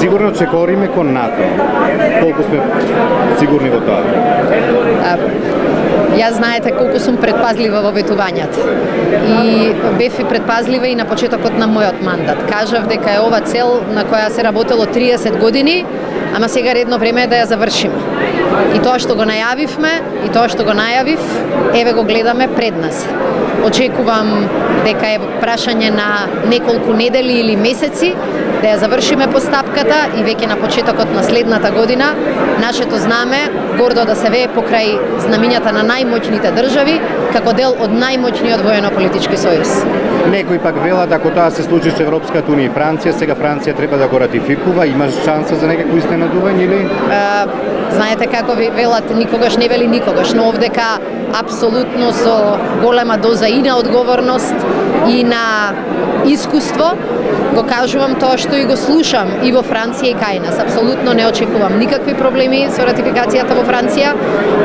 Сигурно че кориме кон НАТО. Колку сме сигурни во тоа? Јас знаете колку сум предпазлива во ветувањата. И бев и предпазлива и на почетокот на мојот мандат. Кажав дека е ова цел на која се работело 30 години, ама сега редно време е да ја завршиме. И тоа што го најавивме, и тоа што го најавив, еве го гледаме пред нас. Очекувам дека е прашање на неколку недели или месеци да ја завршиме постапката и веќе на почетокот на следната година нашето знаме гордо да се вее покрај знамињата на најмоćните држави како дел од најмоćниот воено-политички сојуз. Некои пак велат ако тоа се случи со Европската унија и Франција, сега Франција треба да го ратификува, имаш шанса за некакво изненадување или? Знаете како ви велат, никогаш не вели никогаш, но овдека апсолутно со голема доза и на одговорност и на искуство го кажувам тоа што и го слушам и во Франција и кај нас. Апсолутно не очекувам никакви проблеми со ратификацијата во Франција,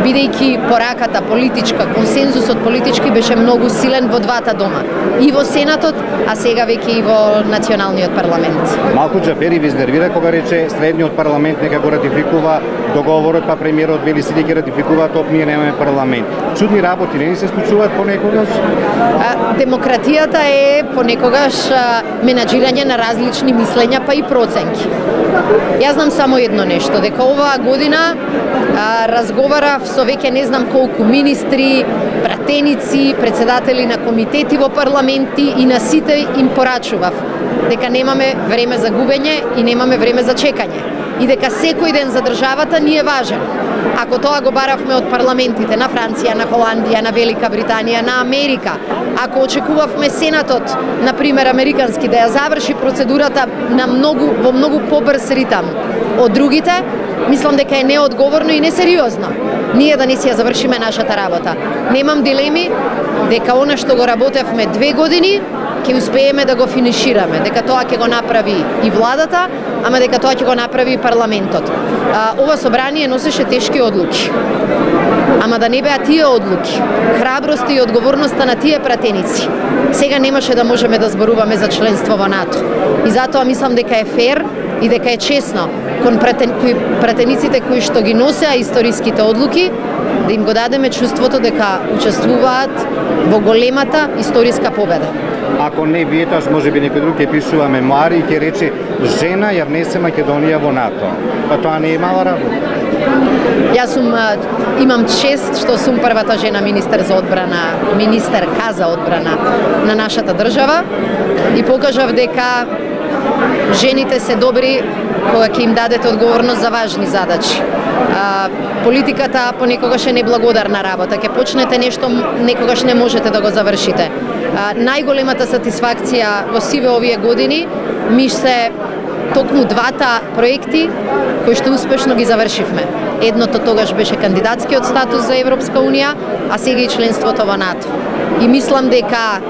бидејќи пораката политичка, консензусот политички беше многу силен во двата дома. И во Сенатот, а сега веќе и во Националниот парламент. Малку Џафери ви изнервира кога рече средниот парламент нека го ратификува договорот, па премиерот вели сите ќе ратификуваат, ние немаме парламент. Чудни работи не ни се случуваат понекогаш? Демократијата е понекогаш менаџирање на различни мислења, па и проценки. Јас знам само едно нешто, дека оваа година разговарав со веќе не знам колку министри, пратеници, председатели на комитети во парламенти и на сите им порачував дека немаме време за губење и немаме време за чекање и дека секој ден за државата ни е важен. Ако тоа го баравме од парламентите на Франција, на Холандија, на Велика Британија, на Америка, ако очекувавме Сенатот, например американски, да ја заврши процедурата во многу побрз ритам од другите, мислам дека е неодговорно и несериозно ние да не си ја завршиме нашата работа. Немам дилеми дека она што го работевме 2 години ќе успееме да го финишираме, дека тоа ќе го направи и владата, ама дека тоа ќе го направи и парламентот. Ова собрание носеше тешки одлуки. Ама да не беа тие одлуки, храброста и одговорноста на тие пратеници, сега немаше да можеме да зборуваме за членство во НАТО. И затоа мислам дека е фер и дека е честно кон пратениците кои што ги носеа историските одлуки, да им го дадеме чувството дека учествуваат во големата историска победа. Ако не вие, тоа може би некој друг ќе пишува мемуари и ќе рече жена ја внесе Македонија во НАТО. Па тоа не е мала работа. Јас имам чест што сум првата жена министер за одбрана, министерка за одбрана на нашата држава и покажав дека жените се добри кога ќе им дадете одговорност за важни задачи. Политиката понекогаш е неблагодарна работа. Ќе почнете нешто, некогаш не можете да го завршите. Најголемата сатисфакција во сиве овие години ми се токму двата проекти кои што успешно ги завршивме. Едното тогаш беше кандидатскиот статус за Европска унија, а сега и членството во НАТО. И мислам дека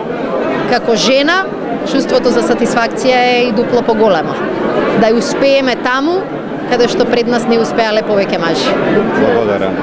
како жена чувството за сатисфакција е и дупло поголемо. Да ја успееме таму каде што пред нас не успеале повеќе мажи. Благодарам.